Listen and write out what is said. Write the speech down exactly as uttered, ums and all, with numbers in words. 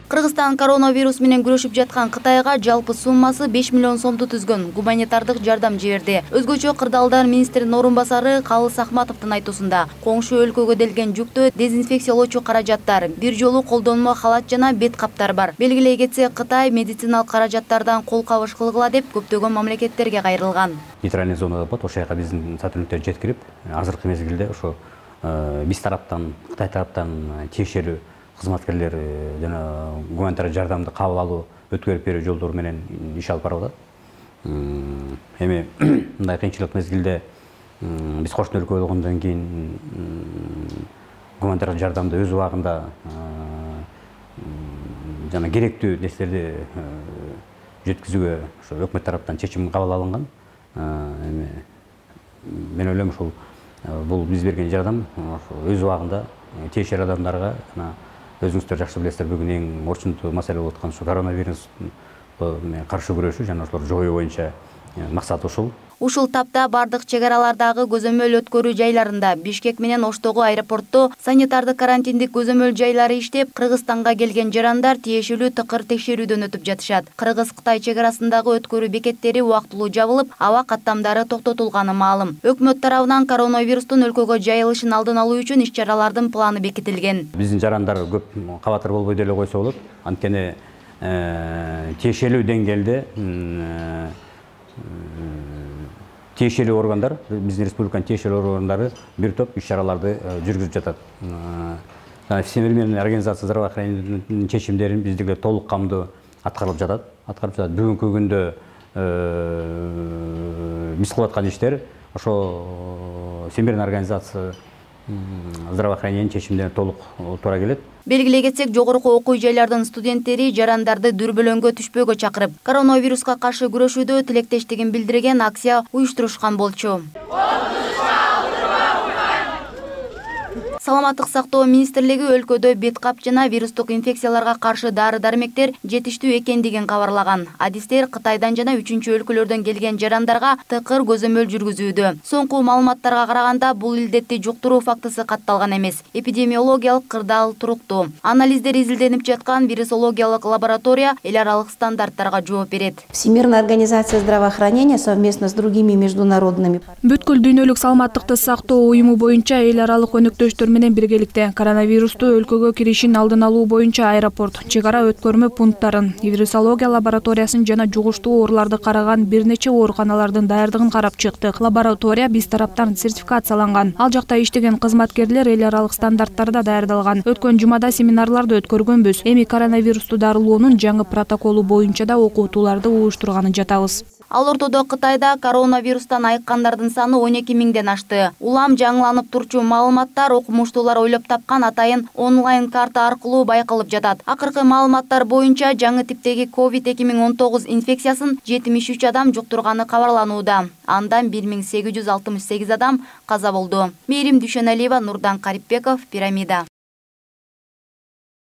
Кыргызстан коронавирус менен күрөшүп жаткан Кытайга жалпы суммасы беш миллион сомду түзгөн гуманитардык жардам жиберди. Өзгөчө кырдаалдар министринин орун басары Калыс Ахматовдун айтуусунда коңшу өлкөгө делген жүктө дезинфекциялоочу каражаттар, бир жолу колдонмо халат жана бет каптар бар. Белгилей кетсек, Кытай медициналык каражаттардан кол кабыш кылгыла деп көптөгөн мамлекеттерге кайрылган. Нейтральный зонада болот, ошол жака биздин сотрудниктер жеткирип, азыркы мезгилде ошо биз тараптан, Кытай тараптан тиешелүү кызматкерлер жана гуманитардык жардамды кабыл алуу, өткөрүп берүү жолдору менен иш алып барып атат. Эми мындай кыйынчылык мезгилде биз кошуна өлкө болгондон кийин гуманитардык жардамды өз убагында жана керектүү нерселерди жеткизүүгө ошо өкмөт тараптан чечим кабыл алынган. Эми мен ойлойм ушул бул биз берген жардам өз убагында тиешелүү адамдарга жана өзүңүздөр жакшы билесиздер, бүгүн эң орчундуу маселе болуп аткан ушу коронавирус каршы күрөшүү жана ошолорду жоюу боюнча максат ушул. Ушул тапта бардык чек аралардагы көзөмөл өткөрүү жайларында, Бишкек менен Оштогу аэропортто санитардык карантиндик көзөмөл жайлары иштеп, Кыргызстанга келген жарандар тиешелүү тыкыр текшерүүдөн өтүп жатышат. Кыргыз-Кытай чек арасындагы өткөрүү бекеттери убактылуу жабылып, аба каттамдары токтотулганы маалым. Өкмөт тарабынан коронавирустун өлкөгө жайылышын алдын алуу үчүн иш-чаралардын планы бекитилген. Биздин жарандар көп кабатыр болбой деле койсо болот. Анткени тиешелүү деңгээлде тиешелүү органдар, биздин республиканын тиешелүү органдары бир топ иш-чараларды жүргүзүп жатат. Всемирный организация здравоохранениянын чечимдерин биздиге толук камдуу аткарылып жатат. Аткарылып жатат. Бүгүнкү күндө биз кылып аткан иштер ошо Всемирный организация здравоохранениянын чечимдерине толук туура келет. Белгилей кетсек, жогорку окуу жайлардын студенттери жарандарды дүрбөлөңгө түшпөөгө чакырып, коронавируска каршы күрөшүүдө тилектештигин билдирген акция уюштурушкан болчу. Саламаттык сактоо министрлиги өлкөдө бет кап жана вирустук инфекцияларга каршы дары-дармектер жетиштүү экендигин кабарлаган. Адистер Кытайдан жана үчүнчү өлкөлөрдөн келген жарандарга тыкыр көзөмөл жүргүзүүдө. Соңку маалыматтарга караганда бул илдетти жуктуруу фактысы катталган эмес. Эпидемиологиялык кырдаал туруктуу. Анализдер изилденип жаткан вирусологиялык лаборатория эл аралык стандарттарга жооп берет. Всемирная организация здравоохранения совместно с другими международными. Бүткүл дүйнөлүк саламаттыкты сактоо уюму боюнча эл аралык өнөктөштөр менен биргеликте коронавирусту өлкөгө киришин алдын алуу боюнча аэропорт, чек ара өткөрмө пункттарын, вирусология лабораториясын жана жугуштуу ооруларды караган бир нече ооруканалардын даярдыгын карап чыктык. Лаборатория биз тараптан сертификацияланган. Ал жакта иштеген кызматкерлер эл аралык стандарттарда даярдалган. Өткөн жумада семинарларды өткөргөнбүз. Эми коронавирусту дарылоонун жаңы протоколу боюнча да окутууларды уюштурганын жатабыз. Ал ортодо Кытайда коронавирустан айыккандардын саны он эки миңден ашты. Улам жаңыланып турчу маалыматтар окумуштуулар ойлоп тапкан атайын онлайн карта аркылуу байкалып жатат. Акыркы маалыматтар боюнча жаңы типтеги ковид эки миң он тогуз инфекциясын жетимиш үч адам жуктурганы кабарланууда. Андан бир миң сегиз жүз алтымыш сегиз адам каза болду. Мээрим Дүйшөналиева, Нурдан Карипбеков, Пирамида.